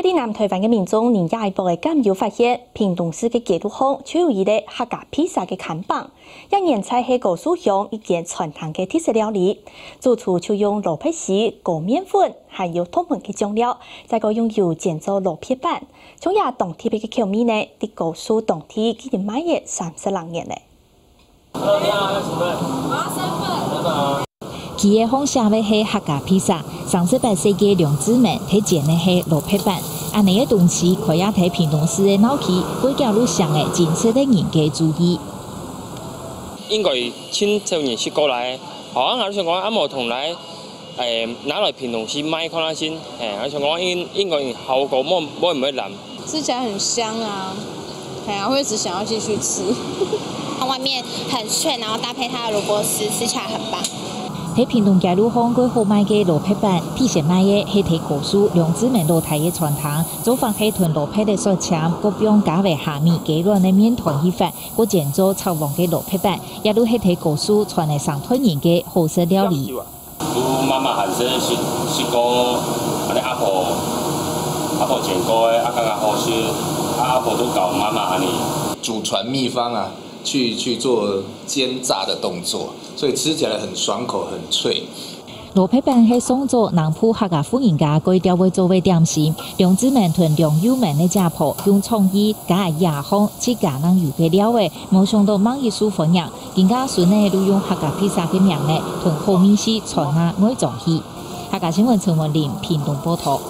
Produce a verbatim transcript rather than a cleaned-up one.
在南臺灣个民眾，人也一般个敢有發現，屏東市个街路項就有一個客家披薩个看板，也原在係高樹鄉一間餐廳个特色料理。主廚就用蘿蔔絲、高麵粉，還有獨門个醬料，再過用油煎做蘿蔔粄。像這當特別个口味呢，在高樹當地已經賣了三十零年了。 佢个項寫个係客家披薩，三十八歲个梁志明，佢煎个係蘿蔔粄。恁呢个東西，開業在屏東市个鬧區，會走入鄉个真實个人个注意。應該盡少人食過來，好啊，𠊎想講，啊無同來，誒，拿來屏東市賣看下先，誒，𠊎想講應，應該效果無，無，無會爛。 吃起來很香啊，哎呀，會一直想要繼續吃。它外面很脆，然後搭配它的蘿蔔絲，吃起來很棒。在屏東街路項過好賣个蘿蔔粄，特色賣个係在高樹兩姊妹老弟个餐廳，做法係同蘿蔔个雪簽，過放加味蝦米雞卵个麵團去發，過煎做炒黃个蘿蔔粄，也就係在高樹傳个上代人个好食料理。 都媽媽還細時，時講，恁呢阿婆，阿婆煎過个，啊，感覺好食，啊，阿婆都教媽媽恁呢。祖傳秘方啊，去，去做煎炸的動作，所以吃起來很爽口，很脆。蘿蔔粄係上早南部客家婦人家過調會做个點心，兩姊妹同梁友文个姐婆用創意加野項自家能有个料仔，無想到吂一受歡迎。 今下孫仔就用客家披薩个名仔，同好味緒傳啊外莊去。客家新聞陳文玲，屏東報導。